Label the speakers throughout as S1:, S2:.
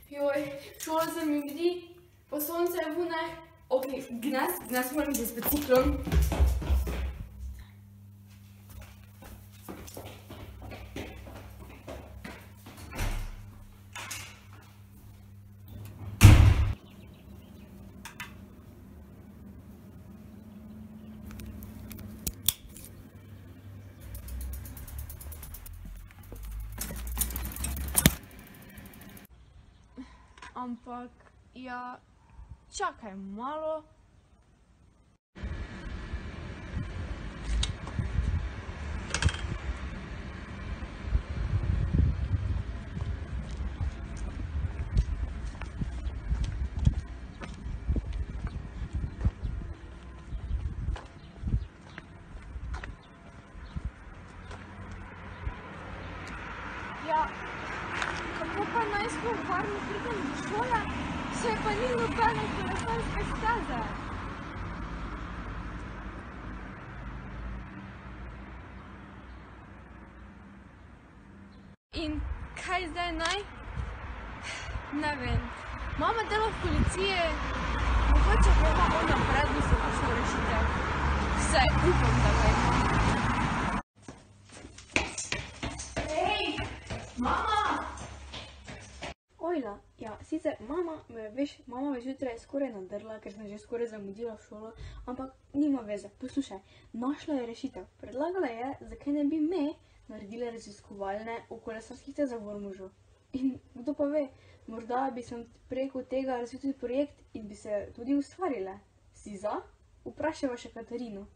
S1: Joj, šola se mi gdi, pa sonce je vune. Ok, gnes moram biti z biciklom. Ampak, ja, čakaj malo. Ja, kako pa naj sploh varno pridem do šole, saj pa ni nobene kolesarske steze. In kaj zdaj naj? Ne vem. Mama dela v policiji, mogoče pa ima ona prednost kakšno rešitev. Vsaj upam, da ga ima. Mama!
S2: Ojla, ja, sicer mama me zjutraj skoraj nadrla, ker sem že skoraj zamudila v šolo, ampak nima veze. Poslušaj, našla je rešitev. Predlagala je, zakaj ne bi me naredila raziskovalne v kolesarskih stezah v Ormožu. In kdo pa ve, morda bi sem preko tega razvil projekt in bi se tudi ustvarile. Si za? Vprašajva še Katarino.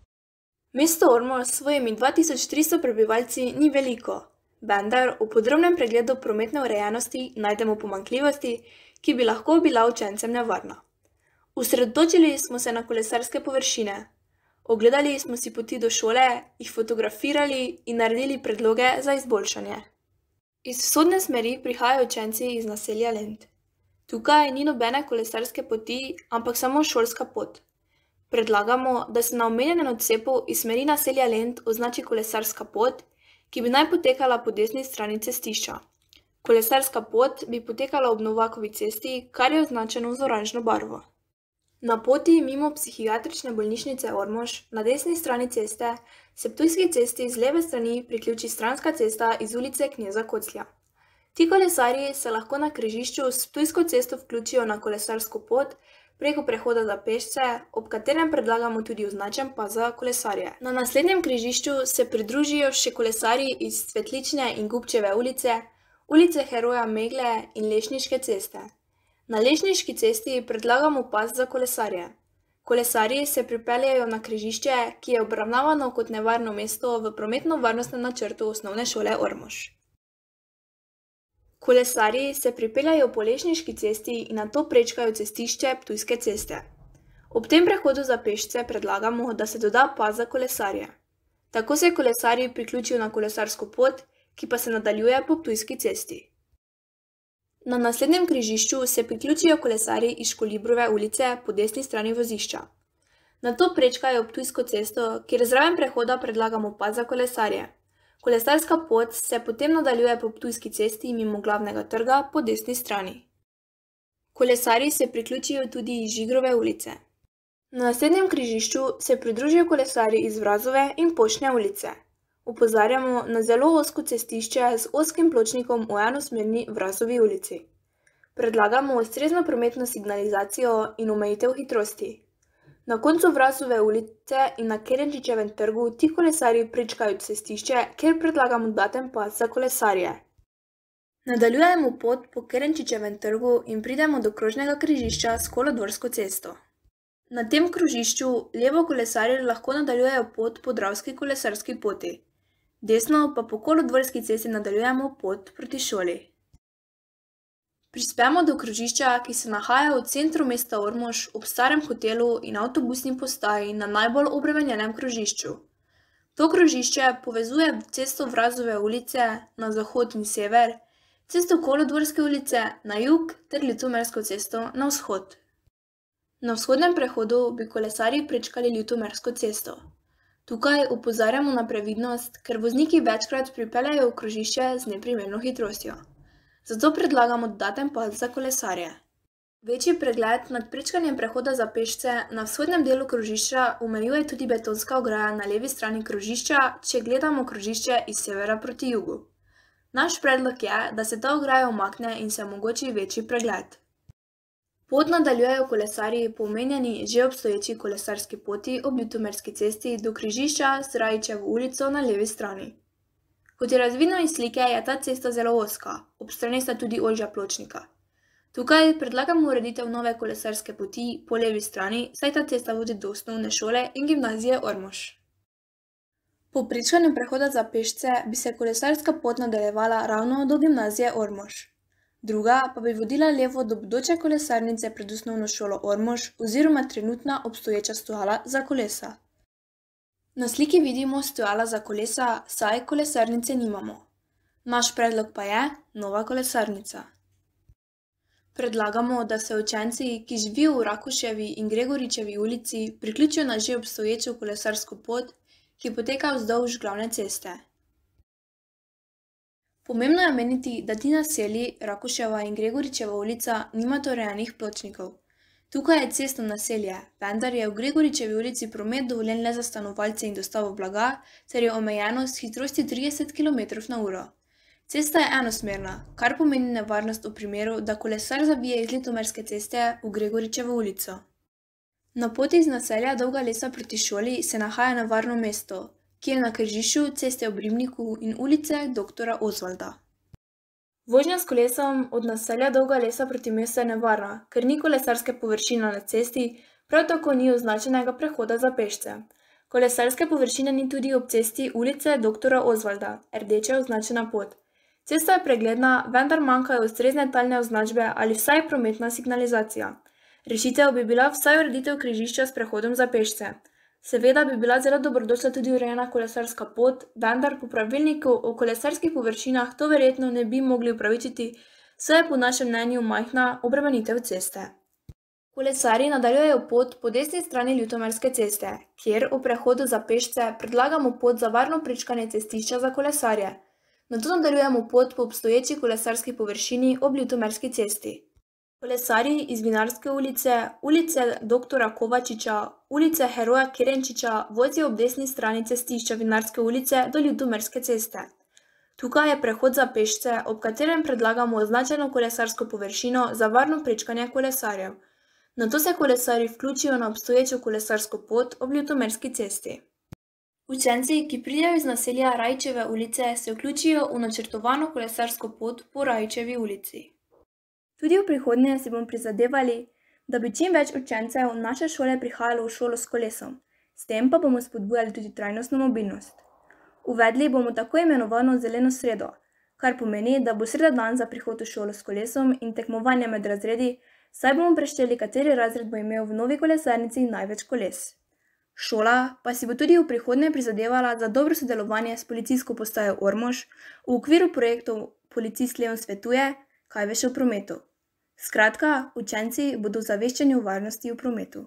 S3: Mesto Ormož s svojimi 2300 prebivalci ni veliko. Vendar v podrobnem pregledu prometne urejenosti najdemo pomanjkljivosti, ki bi lahko bila učencem nevarna. Osredotočili smo se na kolesarske površine. Ogledali smo si poti do šole, jih fotografirali in naredili predloge za izboljšanje. Iz vzhodne smeri prihajajo učenci iz naselja Lent. Tukaj ni nobene kolesarske poti, ampak samo šolska pot. Predlagamo, da se na omenjenem odcepu iz smeri naselja Lent označi kolesarska pot, ki bi naj potekala po desni strani cestišča. Kolesarska pot bi potekala ob Novakovi cesti, kar je označeno z oranžno barvo. Na poti mimo psihiatrične bolnišnice Ormož na desni strani ceste se Ptujski cesti z leve strani priključi stranska cesta iz ulice Kneza Koclja. Ti kolesarji se lahko na križišču s Ptujsko cesto vključijo na kolesarsko pot preko prehoda za pešce, ob katerem predlagamo tudi označen pas za kolesarje. Na naslednjem križišču se pridružijo še kolesarji iz Cvetlične in Gubčeve ulice, ulice Heroja Megle in Lešniške ceste. Na Lešniški cesti predlagamo pas za kolesarje. Kolesarji se pripeljejo na križišče, ki je obravnavano kot nevarno mesto v prometno-varnostnem načrtu Osnovne šole Ormož. Kolesarji se pripeljajo po Lešniški cesti in nato prečkajo cestišče Ptujske ceste. Ob tem prehodu za pešce predlagamo, da se doda pas za kolesarje. Tako se kolesarji priključijo na kolesarsko pot, ki pa se nadaljuje po Ptujski cesti. Na naslednjem križišču se priključijo kolesarji iz Školibrove ulice po desni strani vozišča. Nato prečkajo Ptujsko cesto, kjer zraven prehoda predlagamo pas za kolesarje. Kolesarska pot se potem nadaljuje po Ptujski cesti mimo Glavnega trga po desni strani. Kolesarji se priključijo tudi iz Žigrove ulice. Na naslednjem križišču se pridružijo kolesarji iz Vrazove in Poštne ulice. Opozarjamo na zelo ozko cestišče z ozkim pločnikom v enosmerni Vrazovi ulici. Predlagamo ustrezno prometno signalizacijo in omejitev hitrosti. Na koncu Vrazove ulice in na Kerenčičevem trgu ti kolesarji prečkajo cestišče, kjer predlagamo dodaten pas za kolesarje. Nadaljujemo pot po Kerenčičevem trgu in pridemo do krožnega križišča s Kolodvorsko cesto. Na tem krožišču levo kolesarji lahko nadaljujejo pot po Dravski kolesarski poti. Desno pa po Kolodvorski cesti nadaljujemo pot proti šoli. Prispemo do krožišča, ki se nahaja v centru mesta Ormož ob starem hotelu in avtobusni postaji na najbolj obremenjenem krožišču. To krožišče povezuje cesto Vrazove ulice na zahod in sever, cesto Kolodvorske ulice na jug ter Ljutomersko cesto na vzhod. Na vzhodnem prehodu bi kolesarji prečkali Ljutomersko cesto. Tukaj opozarjamo na previdnost, ker vozniki večkrat pripeljejo v krožišče z neprimerno hitrostjo. Zato predlagamo dodaten pas za kolesarje. Večji pregled nad prečkanjem prehoda za pešce na vzhodnem delu krožišča omejuje tudi betonska ograja na levi strani krožišča, če gledamo krožišče iz severa proti jugu. Naš predlog je, da se ta ograja umakne in se omogoči večji pregled. Pot nadaljujejo kolesarji po omenjeni že obstoječi kolesarski poti ob Ljutomerski cesti do križišča z Rajićevo ulico na levi strani. Kot je razvidno iz slike, je ta cesta zelo ozka, ob strani sta tudi ožja pločnika. Tukaj predlagamo ureditev nove kolesarske poti po levi strani, saj ta cesta vodi do osnovne šole in gimnazije Ormož. Po prečkanju prehoda za pešce bi se kolesarska pot nadaljevala ravno do gimnazije Ormož. Druga pa bi vodila levo do bodoče kolesarnice pred osnovno šolo Ormož oziroma trenutna obstoječa stojala za kolesa. Na sliki vidimo stojala za kolesa, saj kolesarnice nimamo. Naš predlog pa je nova kolesarnica. Predlagamo, da se učenci, ki živijo v Rakuševi in Gregoričevi ulici, priključijo na že obstoječo kolesarsko pot, ki poteka vzdolž glavne ceste. Pomembno je omeniti, da ti naselji, Rakuševa in Gregoričeva ulica, nimata urejenih pločnikov. Tukaj je cestno naselje, vendar je v Gregoričevi ulici promet dovoljen le za stanovalce in dostavo blaga, ter je omejeno s hitrosti 30 km/h. Cesta je enosmerna, kar pomeni nevarnost v primeru, da kolesar zavije iz Ljutomerske ceste v Gregoričevo ulico. Na poti iz naselja Dolga Lesa proti šoli se nahaja nevarno mesto, ki je na križišču ceste ob Ribniku in ulice dr. Osvalda. Vožnja s kolesom od naselja Dolga Lesa proti mestu je nevarna, ker ni kolesarske površine na cesti, prav tako ni označenega prehoda za pešce. Kolesarske površine ni tudi ob cesti ulice dr. Osvalda, rdeče označena pot. Cesta je pregledna, vendar manjkajo ustrezne talne označbe ali vsaj prometna signalizacija. Rešitev bi bila vsaj ureditev križišča s prehodom za pešce. Seveda bi bila zelo dobrodošla tudi urejena kolesarska pot, vendar po pravilniku o kolesarskih površinah to verjetno ne bi mogli upravičiti, saj je po našem mnenju majhna obremenitev ceste. Kolesarji nadaljujejo pot po desni strani Ljutomerske ceste, kjer v prehodu za pešce predlagamo pot za varno prečkanje cestišča za kolesarje. Nato nadaljujemo pot po obstoječi kolesarski površini ob Ljutomerski cesti. Kolesarji iz Vinarske ulice, ulice dr. Kovačiča, ulice Heroja Kerenčiča vozijo ob desni strani cestišča Vinarske ulice do Ljutomerske ceste. Tukaj je prehod za pešce, ob katerem predlagamo označeno kolesarsko površino za varno prečkanje kolesarjev. Nato se kolesarji vključijo na obstoječo kolesarsko pot ob Ljutomerski cesti. Učenci, ki pridejo iz naselja Rajićeve ulice, se vključijo v načrtovano kolesarsko pot po Rajićevi ulici. Tudi v prihodnje si bomo prizadevali, da bi čim več učencev naše šole prihajalo v šolo s kolesom, s tem pa bomo spodbujali tudi trajnostno mobilnost. Uvedli bomo tako imenovano zeleno sredo, kar pomeni, da bo sreda dan za prihod v šolo s kolesom in tekmovanje med razredi, saj bomo prešteli, kateri razred bo imel v novi kolesarnici največ koles. Šola pa si bo tudi v prihodnje prizadevala za dobro sodelovanje s policijsko postajo Ormož v okviru projektov Policist Leon svetuje, kaj veš o prometu. Skratka, učenci bodo ozaveščeni o varnosti v prometu.